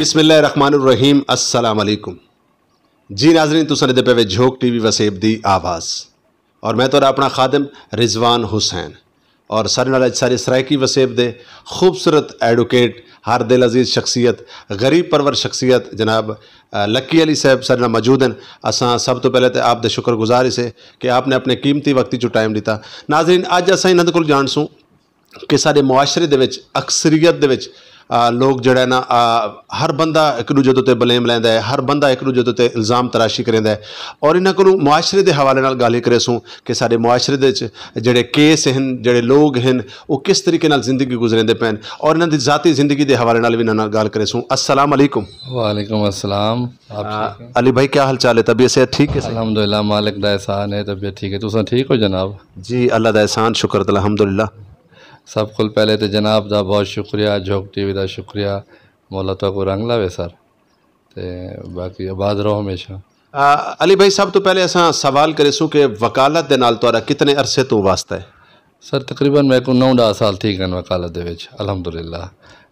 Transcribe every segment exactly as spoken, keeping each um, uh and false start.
بسم اللہ الرحمن الرحیم۔ السلام علیکم۔ جی ناظرین، تساں دے پے وے جھوک ٹی وی وسیب دی آواز، اور میں تہاڈا اپنا خادم رضوان حسین، اور سارے نال اج سارے سرائیکی وسیب دے خوبصورت ایڈوکیٹ، ہر دل عزیز شخصیت، غریب پرور شخصیت جناب، آ، لکی علی صاحب سارے نال موجود ہیں۔ اساں سب تو پہلے تے آپ دے شکر گزار ہی سے کہ آپ نے اپنے قیمتی وقت چوں ٹائم دیتا۔ ناظرین، اج اساں انہاں دے کول جان سوں کہ ساڈے معاشرے دے وچ، اکثریت دے وچ، آ، لوگ جڑا ہے نا، آ، ہر بندہ ایک دوجے دے تے بلیم لیندا ہے، ہر بندہ ایک دوجے دے تے الزام تراشی کریندا ہے، اور انہاں کولوں معاشرے دے حوالے نال گالھیں کریسوں کہ ساڈے معاشرے دے وچ جڑے کیس ہن، جڑے لوگ ہن، او کس طریقے نال زندگی گزریندے پین، اور انہاں دی ذاتی زندگی دے حوالے نال وی انہاں نال گال کریسوں۔ السلام علیکم۔ وعلیکم السلام۔ آپ آ، ٹھیک ہیں؟ علی بھائی، کیا حال چال ہے؟ طبیعت صحت ٹھیک ہے سائیں؟ الحمدللہ، مالک دا احسان ہے، طبیعت ٹھیک ہے۔ تساں ٹھیک ہو جناب؟ جی، اللہ دا احسان، شکر، الحمدللہ۔ سب کول پہلے تے جناب دا بہت شکریہ، جھوک ٹی وی دا شکریہ، مولا تہاکوں رنگ لاوے سر، تے باقی آباد رہو ہمیشہ۔ آ، علی بھائی، سب تو پہلے اساں سوال کریسوں کہ وکالت دے نال تہاڈا کتنے عرصے تو واسطہ ہے؟ سر، تقریباً میکوں نو ݙاہ سال تھی ڳئے وکالت دے وچ، الحمدللہ،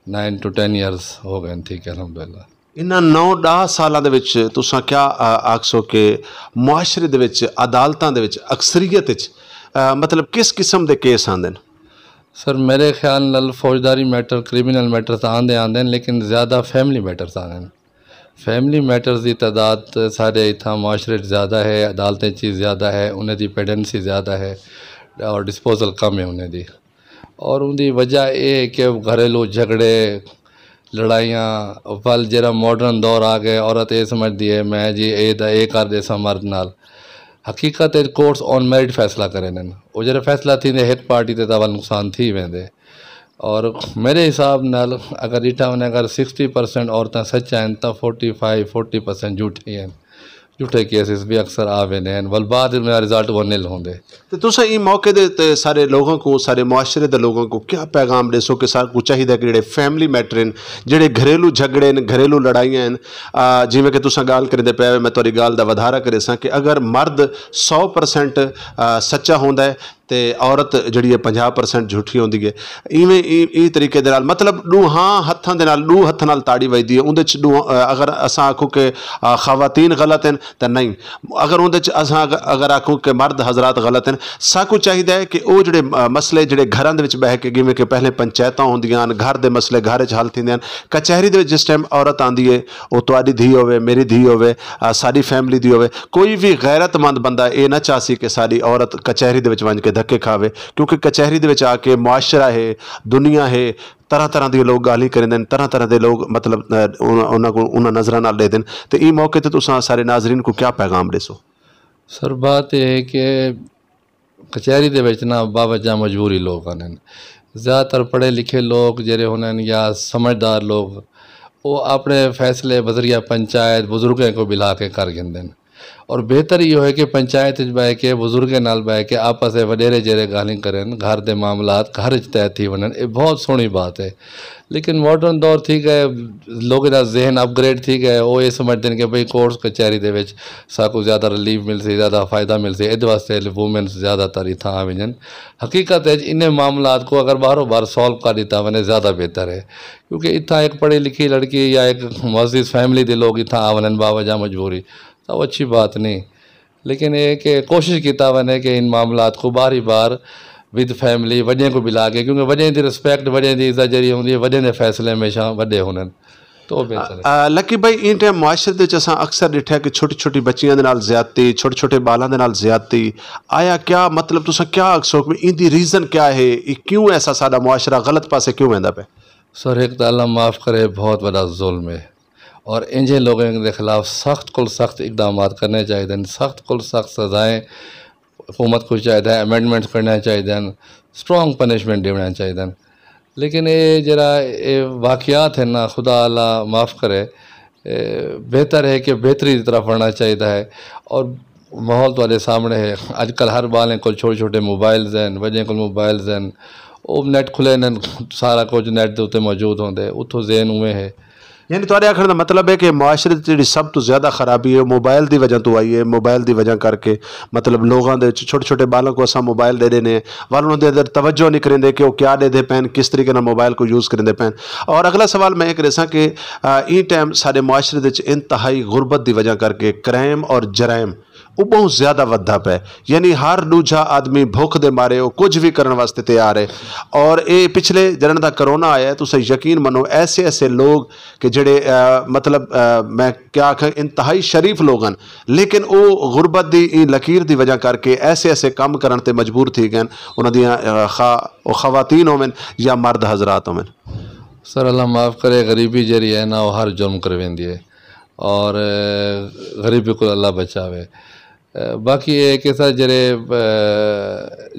نائن ٹو ٹین ایئرز ہو ڳئے، ٹھیک ہے، الحمدللہ۔ انہاں نو ݙاہ سالاں دے وچ تساں کیا، آ، آکھسو کہ معاشرے دے وچ، عدالتاں دے وچ، اکثریت وچ، آ، مطلب کس قسم دے کیس آندے ہن؟ سر، میرے خیال نال فوجداری میٹر، کریمنل میٹر تاں آندے آندے ہن، لیکن زیادہ فیملی میٹرز آندے ہن۔ فیملی میٹرز دی تعداد سارے اتھاں معاشرے وچ زیادہ ہے، عدالتیں چ زیادہ ہے، انہیں دی پیڈنسی زیادہ ہے اور ڈسپوزل کم ہے انہیں دی۔ اور ان دی وجہ اے ہے کہ گھریلو جھگڑے، لڑائیاں، ول جیڑھا ماڈرن دور آ ڳئے، عورت اے سمجھدی ہے میں جی اے دا اے کر ݙیساں مرد نال۔ حقیقت ہے کورٹس آن میرٹ فیصلہ کریندن۔ او جیڑھے فیصلہ تھیندے ہک پارٹی تے تاں ول نقصان تھی ویندے۔ اور میرے حساب نال اگر ݙٹھا ونڄے، اگر سکسٹی پرسینٹ عورتاں سچ ہن تاں فورٹی فائیو، فورٹی پرسینٹ جھوٹے ہن۔ جھوٹے کیسز بھی اکثر آ ویندے ہن، ول بعد میں رزلٹ وہ نل ہوندے۔ تے تساں ایں موقع دے تے سارے لوگاں کوں، سارے معاشرے دے لوگاں کوں کیا پیغام ݙیسو کہ ساکوں چاہیدا کہ جڑے فیملی میٹر ہن، جڑے گھریلو جھگڑے ہن، گھریلو لڑائیاں ہن، آ، جیویں کہ تساں ڳالھ کریندے پئے ہو، میں تہاݙی ڳالھ دا ودھارا کریساں کہ اگر مرد سو پرسینٹ، آ، سچا ہوندا ہے تے عورت جڑی ہے پنجاہ پرسینٹ جھوٹی ہوندی ہے۔ ایویں ای-، ای طریقے دے نال، مطلب، ݙوہاں ہتھاں دے نال، ݙو ہتھاں نال تاڑی وڄدی ہے۔ اوندے چ ݙو، آ، اگر اساں آکھوں کہ، آ، خواتین غلط ہن تاں نہیں، اگر اوندے چ اساں اگ-، اگر آکھوں کہ مرد حضرات غلط ہن، ساکوں چاہیدا ہے کہ او جڑے، آ، مسئلے جڑے گھراں دے وچ ٻہہ کے، جیویں کہ پہلے پنچایتاں ہوندیاں ہن، گھر دے مسئلے گھر وچ حل تھیندے ہن، کچہری دے وچ جس ٹائم عورت آندی ہے، او تہاݙی دھی ہووے، میری دھی ہووے، آ، ساݙی فیملی دی ہووے، کوئی وی غیرت مند بندہ اے نہ چاہسی کہ ساݙی عورت کچہری دے وچ ونڄ کے دھکے کھاوے، کیونکہ کچہری دے وچ آ کے معاشرہ ہے، دنیا ہے، طرح طرح دے لوگ ڳالھیں کریندے ہن، طرح طرح دے لوگ، مطلب، آ، انہاں، انہاں کوں انہاں نظراں نال ݙیہدن۔ تے ایں موقع تے تساں سارے ناظرین کوں کیا پیغام ݙیسو؟ سر، بات اے ہے کہ کچہری دے وچ نا باوجہ مجبوری لوگ آندن۔ زیادہ تر پڑھے لکھے لوگ جیڑھے ہوندن یا سمجھدار لوگ، او اپݨے فیصلے بذریعہ پنچایت، بزرگیں کوں ٻلھا کے کر گھندن۔ اور بہتر ایہو ہے کہ پنچایت وچ ٻہہ کے، بزرگیں نال ٻہہ کے، آپس وچ وݙیرے جیڑھے ڳالھیں کرن، گھر دے معاملات گھر وچ طے تھی ونڄن، اے بہت سوہݨی بات ہے۔ لیکن ماڈرن دور تھی ڳئے، لوگاں دا ذہن اپ گریڈ تھی ڳئے، او اے سمجھدن کہ بھئی کورٹس کچہری دے وچ ساکوں زیادہ ریلیف ملسی، زیادہ فائدہ ملسی، ایں واسطے وومنس زیادہ تر اتھاں آ ونڄن۔ حقیقت ہے انہیں معاملات کوں اگر ٻاہروں ٻاہر سالو کر ݙتا ونڄے زیادہ بہتر ہے، کیونکہ اتھاں ہک پڑھی لکھی لڑکی یا ہک معزز فیملی دے لوگ اتھاں آ ونڄن باوجہ مجبوری، تاں او اچھی بات نہیں۔ لیکن اے کہ کوشش کیتا ونڄے کہ ان معاملات کوں ٻاہری ٻاہر ود فیملی وݙیں کوں ٻلھا کے، کیونکہ وݙیں دی رسپیکٹ، وݙیں دی عزت جیڑھی ہوندی ہے، وݙیں دے فیصلے ہمیشہ وݙے ہوندن، تو او بہتر ہے۔ آ، لکی بھائی، ایں ٹائم معاشرے دے وچ اساں اکثر ݙٹھا کہ چھوٹی چھوٹی بچیاں دے نال زیادتی، چھوٹے چھوٹے ٻالاں دے نال زیادتی، آیا کیا، مطلب، تساں کیا آکھسو کہ ایندی ریزن کیا ہے؟ اے کیوں ایسا ساݙا معاشرہ غلط پاسے کیوں ویندا پئے؟ سر، ہک تاں اللہ معاف کرے، بہت وݙا ظلم ہے، اور اینجھے لوگوں دے خلاف سخت کول سخت اقدامات کرنے چاہیدن، سخت کول سخت سزائیں حکومت کوں چاہیدا ہے، امینڈمنٹس کرݨیاں چاہیدن، اسٹرانگ پنشمنٹ ݙیوݨیاں چاہیدن۔ لیکن اے جیڑھا اے واقعات ہن نا، خدا اللہ معاف کرے، اے بہتر ہے کہ بہتری دی طرف ونڄݨا چاہیدا ہے۔ اور ماحول تہاݙے سامݨے ہے، اڄ کل ہر ٻالیں کول چھوٹے چھوٹے موبائلز ہن، وݙیں کول موبائلز ہن، او نیٹ کھلے ہن، سارا کجھ نیٹ دے اتے موجود ہوندے، اتھوں ذہن اوویں ہے۔ یعنی تہاݙے آکھݨ دا مطلب ہے کہ معاشرے دی جیڑھی سب توں زیادہ خرابی ہے، موبائل دی وجہ توں آئی ہے۔ موبائل دی وجہ کر کے، مطلب، لوگاں دے وچ چھوٹے چھوٹے ٻالاں کوں اساں موبائل ݙے ݙینے ہیں، ول انہاں دے اندر توجہ نہیں کریندے کہ وہ کیا ݙیندے پئن، کس طریقے نال موبائل کوں یوز کریندے پئن۔ اور اگلا سوال میں یہ کریساں کہ، آ، ایں ٹائم ساݙے معاشرے دے وچ انتہائی غربت دی وجہ کر کے کرائم اور جرائم وہ بہت زیادہ ودھا پئے۔ یعنی ہر ݙوجھا آدمی بھکھ دے مارے وہ کجھ وی کرݨ واسطے تیار ہے۔ اور اے پچھلے جݙݨ دا کرونا آیا ہے، تساں یقین منو، ایسے ایسے لوگ کہ جڑے، آ، مطلب، آ، میں کیا آکھاں، انتہائی شریف لوگ ہن، لیکن او غربت دی ایں لکیر دی وجہ کر کے ایسے ایسے کم کرݨ تے مجبور تھی ڳئے ہن۔ انہاں دیاں، آ، خواہ او خواتین ہوون یا مرد حضرات ہوون۔ سر، اللہ معاف کرے، غریبی جیڑھی ہے نا، وہ ہر جرم کرویندی ہے، اور، آ، غریبی کوں اللہ بچاوے۔ آ، باقی اے کہ سر جیڑھے، آ،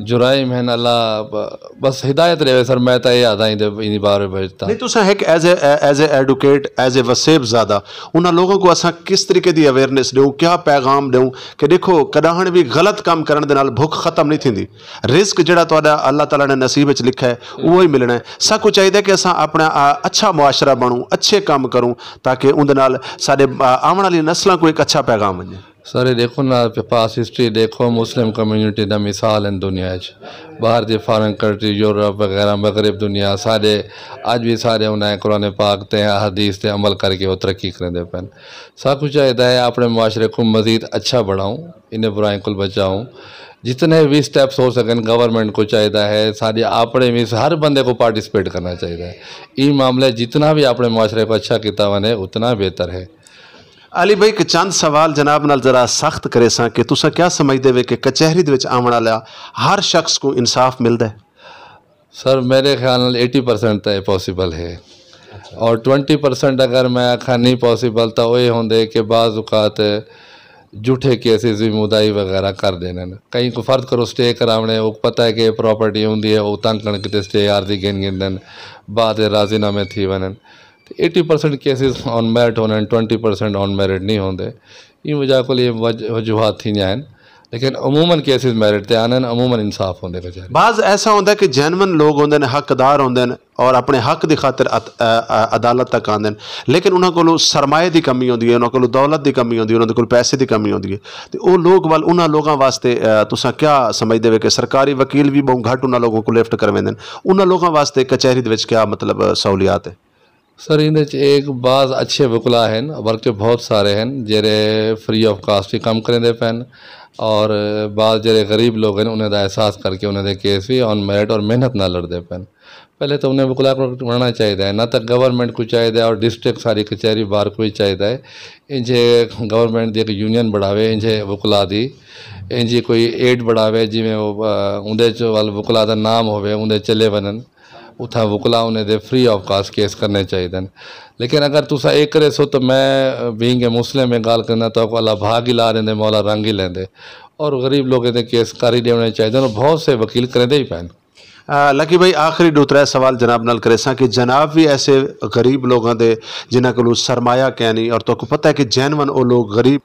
جرائم ہن، اللہ ب-، بس ہدایت ݙیوے سر، میں تاں اے آہداں ایندے، ایندی بارے وچ تاں۔ نہیں، تساں ہک ایز اے، ایز اے ایڈوکیٹ، ایز اے وسیب زادہ، انہاں لوگاں کوں اساں کس طریقے دی اویئرنیس ݙیوں، کیا پیغام ݙیوں کہ ݙیکھو، کݙاہݨ وی غلط کم کرݨ دے نال بھکھ ختم نہیں تھیندی۔ رزق جیڑھا تہاݙا اللہ تعالیٰ نے نصیب وچ لکھا ہے، اوہو ہی ملݨا ہے۔ ساکوں چاہیدا ہے کہ اساں اپݨا، آ، اچھا معاشرہ بݨوں، اچھے کم کروں، تاکہ اوندے نال ساݙے، آ، آوݨ والی نسلاں کوں ہک اچھا پیغام ونڄے۔ سر، اے ݙیکھو نا، پاسٹ ہسٹری ݙیکھو، مسلم کمیونٹی دا مثال ہن دنیا اچ۔ ٻاہر دی فارن کنٹری، یورپ وغیرہ، مغرب دنیا، سارے اڄ وی سارے انہاں قرآن پاک تے احادیث تے عمل کر کے او ترقی کریندے پئن۔ ساکوں چاہیدا ہے اپݨے معاشرے کوں مزید اچھا بݨاؤں، انہیں برائیں کوں بچاؤں۔ جتنے وی سٹیپس ہو سڳن، گورنمنٹ کوں چاہیدا ہے، ساݙے اپݨے وی ہر بندے کوں پارٹیسپیٹ کرݨا چاہیدا ہے۔ ایں معاملے جتنا وی اپݨے معاشرے کوں اچھا کیتا ونڄے، اتنا بہتر ہے۔ علی بھائی، ہک چند سوال جناب نال ذرا سخت کریساں کہ تساں کیا سمجھدے وے کہ کچہری دے وچ آوݨ والا ہر شخص کوں انصاف ملدا ہے؟ سر، میݙے خیال نال ایٹی پرسینٹ تاں اے پاسیبل ہے، اور ٹوئنٹی پرسینٹ اگر میں آکھاں نہیں پاسیبل، تاں او اے ہوندے کہ بعض اوقات جھوٹے کیسز وی مدعی وغیرہ کر ݙیندن۔ کہیں کوں فرض کرو سٹے کراوݨے، اوکوں پتہ ہے کہ اے پراپرٹی اوندی ہے، او تنگ کرݨ کیتے سٹے عارضی گھن گھندن، بعد وچ راضی نامے تھی ونڄن۔ تے ایٹی پرسینٹ کیسز آن میرٹ ہوندن، ٹوئنٹی پرسینٹ آن میرٹ نہیں ہوندے۔ ایں وجہ کول اے وج-، وجوہات تھیندیاں ہن، لیکن عموماً کیسز میرٹ تے آندن، عموماً انصاف ہوندے کچہری۔ بعض ایسا ہوندا ہے کہ جینوئن لوگ ہوندے نے، حق دار ہوندے نے اور اپنے حق دی خاطر عت-، آ، آ، عدالت تک آندے نے، لیکن انہاں کولوں سرمایے دی کمی ہوندی ہے، انہاں کولوں دولت دی کمی ہوندی ہے، انہاں دے کول پیسے دی کمی ہوندی ہے۔ تے او لوگ ول انہاں لوگاں واسطے، آ، تساں کیا سمجھدے وے کہ سرکاری وکیل وی ٻہوں گھٹ انہاں لوگوں کوں لفٹ کرویندے نے؟ انہاں لوگاں واسطے کچہری دے وچ کیا، مطلب، سہولیات ہے؟ سر، ایندے وچ ایک بعض اچھے وکلا ہن، بلکہ بہت سارے ہن، جیڑھے فری آف کاسٹ ہی کم کریندے پئن، اور بعض جیڑھے غریب لوگ ہن، انہیں دا احساس کر کے انہیں دے کیس وی آن میرٹ اور محنت نال لڑدے پئن۔ پہلے تاں انہیں وکلا کوں ونڄݨا چاہیدا ہے، نہ تاں گورنمنٹ کوں چاہیدا ہے اور ڈسٹرکٹ ساری کچہری بار کوں وی چاہیدا ہے، انجھے گورنمنٹ دی ہک یونین بݨاوے، انجھے وکلا دی، انجھی کوئی ایڈ بݨاوے، جیویں او، آ، اوندے چ ول وکلا دا نام ہووے، اوندے چلے ونڄن۔ اتھاں وکلا انہیں دے فری آف کاسٹ کیس کرݨے چاہیدن۔ لیکن اگر تساں اے کریسو تاں میں، بینگ اے مسلم، اے ڳالھ کرینداں، تہاکوں اللہ بھا گی لا ݙیندے، مولا رنگ ہی لیندے۔ اور غریب لوکیں دے کیس کر ہی ݙیوݨے چاہیدن، اور بہت سے وکیل کریندے ہی پئن۔ آ، لکی بھائی، آخری ݙو ترے سوال جناب نال کریساں کہ جناب وی ایسے غریب لوگاں دے، جنہاں کولوں سرمایہ کینی، اور تہاکوں پتہ ہے کہ جینوئن او لوگ غریب